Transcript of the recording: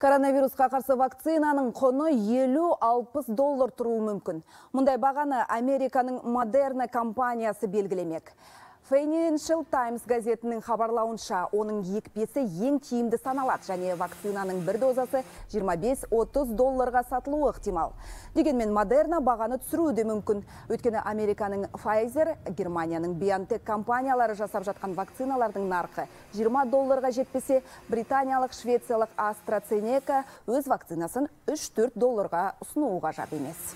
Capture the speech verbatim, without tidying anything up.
Коронавирусқа қарсы вакцинаның құны елу алпыс доллар тұруы мүмкін. Мұндай бағаны Американың Moderna компаниясы белгілемек. Financial Times газетінің хабарлауынша, оның екпесі ең тиімді саналады, және вакцинаның бір дозасы жиырма бес отыз долларға сатылуы ықтимал. Дегенмен Moderna бағаны түсіруі де мүмкін. Өйткені Американың Pfizer, Германияның BioNTech компаниялары жасап жатқан вакциналардың нарқы жиырма долларға жетпесе, британиялық, швециялық AstraZeneca өз вакцинасын үш төрт долларға ұсынуы ғажап емес.